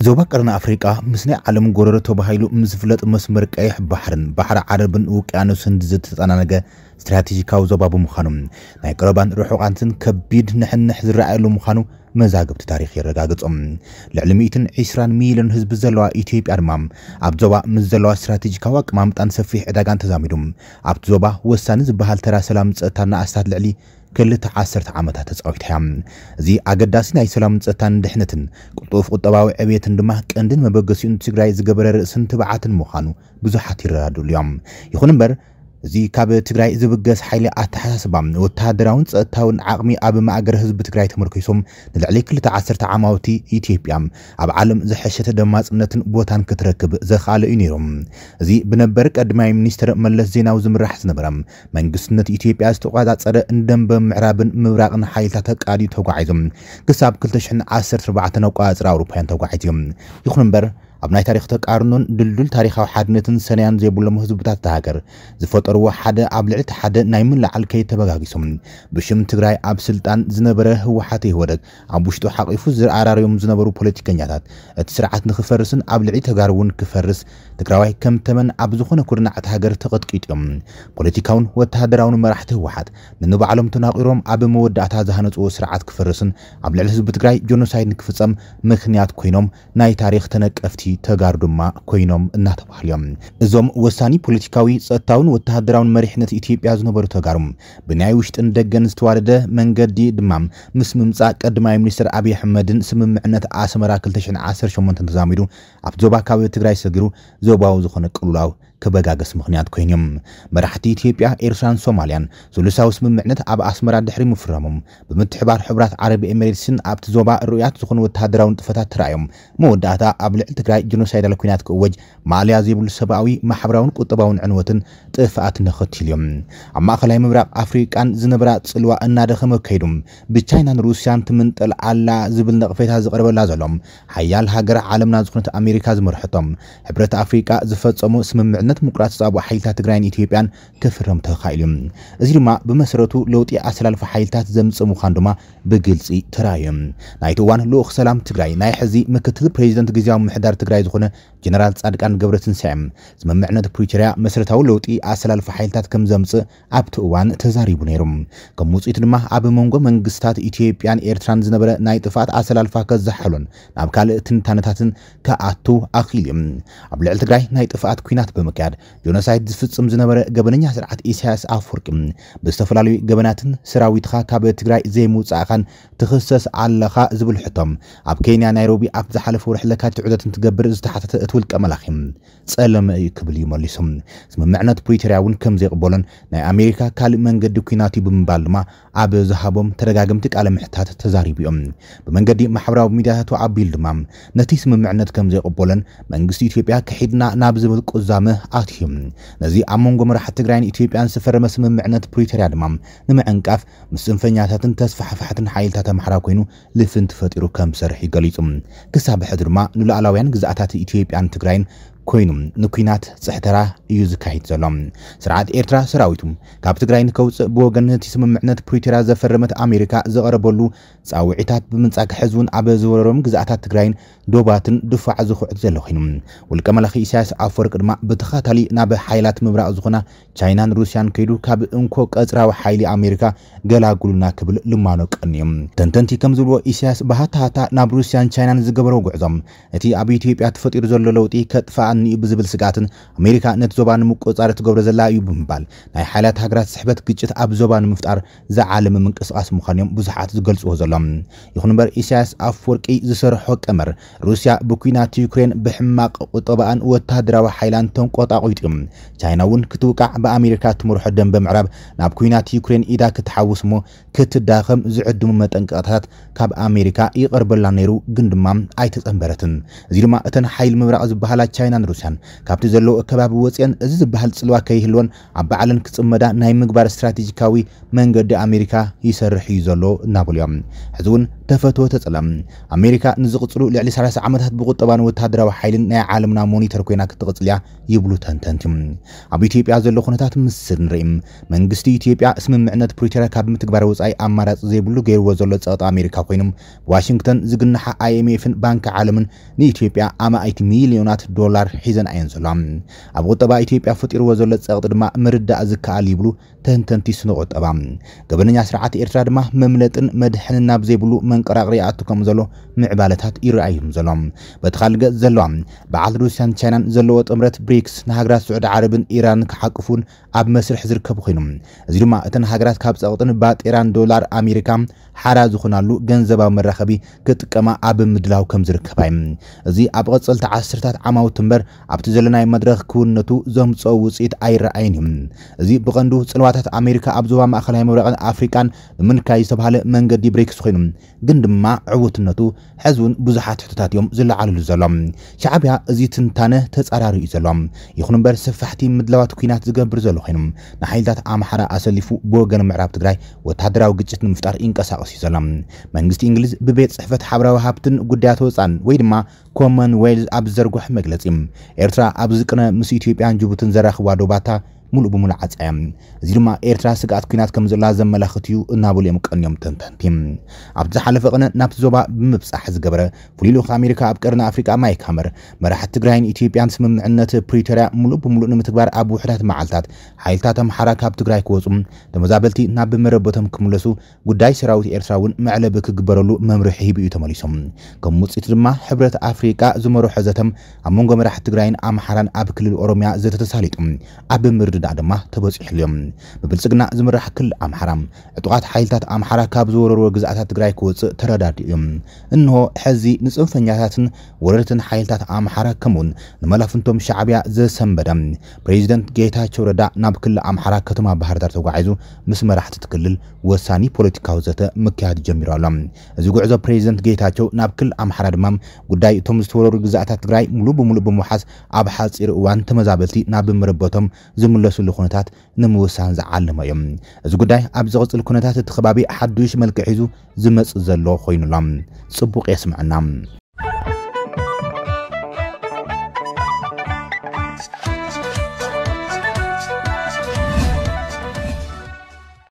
ዞባ ቀርኒ ኣፍሪቃ ምስ ናይ ዓለም ጎረሮ ተባሂሉ ምስ ዝፍለጥ መስመር ቀይሕ ባሕርን ባሕሪ ዓረብን ውቅያኖስን ዝተጠናነገ ስትራቴጂካዊ ዞባ ብምዃኑ ናይ ቀረባን ርሑቓትን ከቢድ ንሕንሕ ዝረኣየሉ ምዃኑ መዛግብቲ ታሪኽ የረጋግጾም። ልዕሊ ሚእትን ዕስራን ሚልዮን ህዝቢ ዘለዋ ኢትዮጵያ ድማ ኣብ ዞባ ምስ ዘለዋ ስትራቴጂካዊ ኣቀማምጣን ሰፊሕ ዕዳጋን ተዛሚዱ ኣብቲ ዞባ ወሳኒ ዝበሃል ተራ ሰላም ጸጥታና ኣስታት ልዕሊ ክልተ ዓሰርተ ዓመታት ተጻዊታ እያ። እዚ ኣገዳሲ ናይ ሰላምን ጸጥታን ድሕነትን ቅልጡፍ ቁጠባዊ ዕብየትን ድማ ቀንድን መበገሲኡን ትግራይ ዝገበረ ርእስን ትብዓትን ምዃኑ ብዙሓት ይረዳድሉ እዮም። ይኹን እምበር እዚ ካብ ትግራይ ዝብገስ ሓይሊ ኣተሓሳስባ ወተሃደራውን ጸጥታውን ዓቕሚ ኣብ ማእገር ህዝቢ ትግራይ ተመርኪሶም ንልዕሊ ክልተ ዓሰርተ ዓማውቲ ኢትዮጵያ ኣብ ዓለም ዝሐሸተ ደማፅነትን ቦታን ክትረክብ ዘኽኣለ እዩ ነይሩ። እዚ ብነበር ቀዳማይ ሚኒስትር መለስ ዜናዊ ዝምራሕ ዝነበረ መንግስትነት ኢትዮጵያ ዝተቆጻጸረ ንደንበ ምዕራብን ምብራቕን ሓይልታት ኣቃዲዩ ተጓዒዞም ክሳብ ክልተ ሽሕን ዓሰርተ ኣርባዕተን ኣቆጻጽራ ኣውሮፓውያን ተጓዒዙ እዮም። ይኹን እምበር ኣብ ናይ ታሪኽ ተቃርኖን ድልዱል ታሪኻዊ ሓድነትን ሰነያን ዘይብሎም ህዝብታት እታ ሃገር ዝፈጠርዎ ሓደ ኣብ ልዕሊ እቲ ሓደ ናይ ምልዓል ከይድ ተበጋጊሶም ብሽም ትግራይ ኣብ ስልጣን ዝነበረ ህወሓት ኢህወደግ ኣብ ውሽጡ ሓቂፉ ዝኣራርዮም ዝነበሩ ፖለቲከኛታት እቲ ስርዓት ንክፈርስን ኣብ ልዕሊ ተጋሩ እውን ክፈርስ ትግራዋይ ከም ተመን ኣብ ዝኾነ ኩርናዕ እታ ሃገር ተቐጥቂጡ እዮም። ፖለቲካውን ወተሃደራውን መራሕቲ ህወሓት ንንባዕሎም ተናቒሮም ኣብ መወዳእታ ዝሃነፅዎ ስርዓት ክፈርስን ኣብ ልዕሊ ህዝቢ ትግራይ ጆኖሳይድ ንክፍፀም ምክንያት ኮይኖም ናይ ታሪኽ ተነቀፍቲ ተጋሩ ድማ ኮይኖም እናተባህሉ እዮም። እዞም ወሳኒ ፖለቲካዊ፣ ጸጥታውን ወተሃደራውን መሪሕነት ኢትዮጵያ ዝነበሩ ተጋሩ ብናይ ውሽጥን ደገን ዝተዋደደ መንገዲ ድማ ምስ ምምጻእ ቀዳማይ ሚኒስትር ኣብይ ኣሕመድን ስምምዕነት ኣስመራ ክልተ ሽሕን ዓሰርተ ሸሞንተን ተዛሚዱ ኣብቲ ዞባ ካብ ትግራይ ሰጊሩ ዞባዊ ዝኾነ ቅልውላው ክበጋገስ ምኽንያት ኮይኑ እዮም። መራሕቲ ኢትዮጵያ፣ ኤርትራን ሶማልያን ሱሉሳዊ ስምምዕነት ኣብ ኣስመራ ድሕሪ ምፍራሞም ብምትሕባር ሕቡራት ዓረብ ኤሚሬትስን ኣብቲ ዞባ ርኡያት ዝኾኑ ወተሃደራዊ ንጥፈታት ተራእዮም መወዳእታ ኣብ ልዕሊ ትግራይ ጀኖሳይዳል ኲናት ክእወጅ ማእለያ ዘይብሉ ሰብኣዊ፣ ማሕበራውን ቁጠባውን ዕንወትን ጥፍኣትን ኣኸቲሉ እዮም። ኣብ ማእኸላይ ምብራቕ ኣፍሪቃን ዝነበራ ጽልዋ እናደኸመ ከይዱ ብቻይናን ሩስያን ትምንጠል ኣላ ዝብል ነቕፌታ ዝቐርበላ ዘሎ ሓያል ሃገር ዓለምና ዝኾነት ኣሜሪካ ዝመርሐቶም ሕብረት ኣፍሪቃ ዝፈጸሙ ስምምዕነት ምቁራጽ ጻብኦ ሓይልታት ትግራይን ኢትዮጵያን ክፍረም ተኻኢሉ እዩ። እዚ ድማ ብመሰረቱ ለውጢ ኣሰላልፋ ሓይልታት ዘምጽእ ምዃኑ ድማ ብግልጺ ተራእዩ። ናይቲ እዋን ልኡኽ ሰላም ትግራይ ናይ ሕዚ ምክትል ፕሬዚደንት ግዜያዊ ምምሕዳር ትግራይ ዝኾነ ጀነራል ጻድቃን ገብረትንሳኤ ስምምዕነት ፕሪቶርያ መሰረታዊ ለውጢ ኣሰላልፋ ሓይልታት ከም ዘምጽእ ኣብቲ እዋን ተዛሪቡ ነይሩ። ከም ውፅኢት ድማ ኣብ መንጎ መንግስታት ኢትዮጵያን ኤርትራን ዝነበረ ናይ ጥፍኣት ኣሰላልፋ ከዘሓሉን ናብ ካልእ ትንታነታትን ክኣቱ ኣኽኢሉ እዩ። ኣብ ልዕሊ ትግራይ ናይ ጥፍኣት ኲናት ብምክያድ ጆኖሳይድ ዝፍጽም ዝነበረ ገበነኛ ስርዓት ኢሳያስ ኣፈወርቂ ብዝተፈላለዩ ገበናትን ሰራዊትኻ ካብ ትግራይ ዘይምውጻእኻን ትኽሰስ ኣለኻ ዝብል ሕቶም ኣብ ኬንያ ናይሮቢ ኣብ ዝሓለፈ ወርሒ ለካቲት ዑደት እንትገብር ዝተሓተተ እቲ ውልቀ መላኺ ጸለመ እዩ ክብል እዩ መሊሱ። ስምምዕነት ፕሪቶርያ እውን ከም ዘይቕበሎን ናይ ኣሜሪካ ካልእ መንገዲ ኲናት እዩ ብምባል ድማ ኣብ ዝሃቦም ተደጋገምቲ ቃለ ምሕታት ተዛሪቡ እዮም። ብመንገዲ ማሕበራዊ ሚዲያታቱ ኣቢሉ ድማ ነቲ ስምምዕነት ከም ዘይቕበሎን መንግስቲ ኢትዮጵያ ክሒድና ናብ ዝብል ቁዛመ ኣትዩ። ነዚ ኣብ መንጎ መራሕቲ ትግራይን ኢትዮጵያን ዝፈረመ ስምምዕነት ፕሪቶርያ ድማ ንምዕንቃፍ ምስ ጽንፈኛታትን ተስፋሕፋሕትን ሓይልታት ኣምሓራ ኮይኑ ልፍንቲ ፈጢሩ ከም ዝሰርሕ እዩ ገሊጹ። ክሳብ ሕዚ ድማ ንሉዓላውያን ግዝኣታት ኢትዮጵያን ትግራይን ኮይኑ ንኲናት ጽሕተራ እዩ ዝካየድ ዘሎ። ስርዓት ኤርትራ ሰራዊቱ ካብ ትግራይ ንከውፅእ ብወገን ነቲ ስምምዕነት ፕሪቶርያ ዘፈረመት ኣሜሪካ ዘቐረበሉ ፃውዒታት ብምንጻግ ሕዚ እውን ኣብ ዝወረሮም ግዝኣታት ትግራይን ዶባትን ድፋዕ ዝኹዕት ዘሎ ኮይኑ ውልቀ መላኺ ኢሳያስ ኣፈወርቂ ድማ ብተኸታታሊ ናብ ሓይላት ምብራቕ ዝኾና ቻይናን ሩስያን ከይዱ ካብ እንኮ ቀጽራዊ ሓይሊ ኣሜሪካ ገላጉሉና ክብል ልማኖ ቀንዮም። ተንተንቲ ከም ዝብልዎ ኢሳያስ ብሃታሃታ ናብ ሩስያን ቻይናን ዝገበሮ ጉዕዞ እቲ ኣብ ኢትዮጵያ ተፈጢሩ ዘሎ ለውጢ ከጥፍኣኒ እዩ ብዝብል ስግኣትን ኣሜሪካ ነቲ ዞባ ንምቁፅፃር ትገብሮ ዘላ እዩ ብምባል ናይ ሓይላት ሃገራት ስሕበት ግጭት ኣብ ዞባ ንምፍጣር ዝዓለመ ምንቅስቃስ ምዃኑ እዮም ብዙሓት ዝገልፅዎ ዘሎ። ይኹን እምበር ኢሳያስ ኣፈወርቂ ዝሰርሖ ቀመር ሩስያ ብኲናት ዩክሬን ብሕማቕ ቁጠባኣን ወታደራዊ ሓይላን ተንቆጣቂጡ እዩ። ቻይና እውን ክትውቃዕ ብኣሜሪካ እትመርሖ ደንበ ምዕራብ ናብ ኲናት ዩክሬን ኢዳ ክትሓውስ እሞ ክትዳኸም ዝዕድሙ መጠንቀቕታታት ካብ ኣሜሪካ ይቐርበላ ነይሩ ግን ድማ ኣይተጸንበረትን። እዚ ድማ እተን ሓይሊ ምብራቕ ዝበሃላ ቻይናን ሩስያን ካብቲ ዘለዎ ከባቢ ወፅየን እዚ ዝበሃል ፅልዋ ከይህልወን ኣብ ባዕለን ክፅመዳ ናይ ምግባር ስትራቴጂካዊ መንገዲ ኣሜሪካ ይሰርሕ እዩ ዘሎ እናበሉ እዮም። ሕዚ እውን ተፈትወ ተጸላ፣ ኣሜሪካ ንዝቕጽሉ ልዕሊ ሰላሳ ዓመታት ብቁጠባን ወታደራዊ ሓይልን ናይ ዓለምና ሞኒተር ኮይና ክትቕጽል እያ ይብሉ ተንተንቲ። ኣብ ኢትዮጵያ ዘሎ ኩነታት ምስ ንርኢ፣ መንግስቲ ኢትዮጵያ ስምምዕነት ፕሪቶርያ ካብ ምትግባር ወጻኢ ኣማራጺ ዘይብሉ ገይርዎ ዘሎ ጸቕጢ ኣሜሪካ ኮይኑ፣ ብዋሽንግተን ዝግንሓ ኣይኤምኤፍን ባንኪ ዓለምን ንኢትዮጵያ ኣማኢት ሚልዮናት ዶላር ሒዘን እየን ዘለዋ። ኣብ ቁጠባ ኢትዮጵያ ፈጢርዎ ዘሎ ጸቕጢ ድማ ምርዳእ ዝከኣል ይብሉ ተንተንቲ ስነ ቁጠባ። ገበነኛ ስርዓት ኤርትራ ድማ መምለጥን መድሕንን ናብ ዘይብሉ መንቀራቕሪ ይኣቱ ከም ዘሎ ምዕባለታት ይረኣዮም ዘሎ። በቲ ካልእ ገጽ ዘለዋ በዓል ሩስያን ቻይናን ዘለዎ ጥምረት ብሪክስ ንሃገራት ስዑዲ ዓረብን ኢራንን ክሓቅፉን ኣብ መስርሕ ዝርከቡ ኮይኖም፣ እዚ ድማ እተን ሃገራት ካብ ጸቕጥን ባጤራን ዶላር ኣሜሪካ ሓራ ዝኾናሉ ገንዘባዊ መራኸቢ ክጥቀማ ኣብ ምድላው ከም ዝርከባ እዩ። እዚ ኣብ ቐጸልቲ ዓሰርታት ዓማውቲ እምበር ኣብቲ ዘለናይ መድረኽ ክውንነቱ ዘምጽኦ ውጽኢት ኣይረኣይን እዩ። እዚ ብቐንዱ ጽልዋታት ኣሜሪካ ኣብ ዞባ ማእኸላይ ምብራቕን ኣፍሪቃን ብምንካይ ዝተባህለ መንገዲ ብሪክስ ኮይኑ፣ ግን ድማ ዕውትነቱ ሕዚ እውን ብዙሓት ሕቶታት እዮም ዝለዓልሉ ዘሎ። ሻዕብያ እዚ ትንታነ ተጻራሪ እዩ ዘሎ። ይኹን እምበር ሰፋሕቲ ምድላዋት ኲናት ዝገብር ዘሎ ኮይኑ፣ ንሓይልታት ኣምሓራ ኣሰሊፉ ብወገን ምዕራብ ትግራይ ወታደራዊ ግጭት ንምፍጣር ይንቀሳቐስ እዩ ዘሎ። መንግስቲ እንግሊዝ ብቤት ጽሕፈት ሓበራዊ ሃብትን ጉዳያት ወጻን ወይ ድማ ኮመንዌልዝ ኣብ ዝዘርግሖ መግለጺ፣ ኤርትራ ኣብዚ ቅነ ምስ ኢትዮጵያን ጅቡትን ዘራኽባ ዶባታ ሙሉእ ብሙሉእ ዓጻያ። እዚ ድማ ኤርትራ ስግኣት ኲናት ከም ዘላ ዘመላኽት እዩ እናበሉ እዮም ቀንዮም ተንተንቲ። ኣብቲ ዝሓለፈ ቅነ ናብቲ ዞባ ብምብጻሕ ዝገበረ ፍሉይ ልኡኽ ኣሜሪካ ኣብ ቀርኒ ኣፍሪቃ ማይክ ሃመር፣ መራሕቲ ትግራይን ኢትዮጵያን ስምምዕነት ፕሪቶርያ ሙሉእ ብሙሉእ ንምትግባር ኣብ ውሑዳት መዓልታት ሓይልታት ኣምሓራ ካብ ትግራይ ክወጹ፣ ተመዛበልቲ ናብ መረበቶም ክምለሱ፣ ጉዳይ ሰራዊት ኤርትራ እውን መዕለቢ ክግበረሉ መምርሒ ሂቡ እዩ ተመሊሶም። ከም ውጽኢት ድማ ሕብረት ኣፍሪቃ ዝመርሖ ዘተም ኣብ መንጎ መራሕቲ ትግራይን ኣምሓራን ኣብ ክልል ኦሮሚያ ዘተ ተሳሊጡ ኣብ ምርድዳእ ድማ ተበጺሕሉ እዮም። ብብልጽግና ዝምራሕ ክልል ኣምሓራ ዕጡቓት ሓይልታት ኣምሓራ ካብ ዝወረርዎ ግዝኣታት ትግራይ ክወጽእ ተረዳዲኡ እዮም። እንሆ ሕዚ ንጽንፈኛታትን ወረርትን ሓይልታት ኣምሓራ ከምኡውን ንመላፍንቶም ሻዕብያ ዘሰንበደ ፕሬዚደንት ጌታቸው ረዳ ናብ ክልል ኣምሓራ ከተማ ባህር ዳር ተጓዒዙ ምስ መራሕቲ እቲ ክልል ወሳኒ ፖለቲካዊ ዘተ ምክያድ ጀሚሩ ኣሎ። እዚ ጉዕዞ ፕሬዚደንት ጌታቸው ናብ ክልል ኣምሓራ ድማ ጉዳይ እቶም ዝተወረሩ ግዝኣታት ትግራይ ሙሉ ብሙሉ ብምውሓስ ኣብ ሓፂር እዋን ተመዛበልቲ ናብ መረበቶም ዝምለሱሉ ኩነታት ንምውሳን ዝዓለመ እዩ። እዚ ጉዳይ ኣብ ዝቕፅል ኩነታት እቲ ከባቢ ሓዱሽ መልክዕ ሒዙ ዝመፅእ ዘሎ ኮይኑ ኣሎ። ፅቡቕ የስምዐና።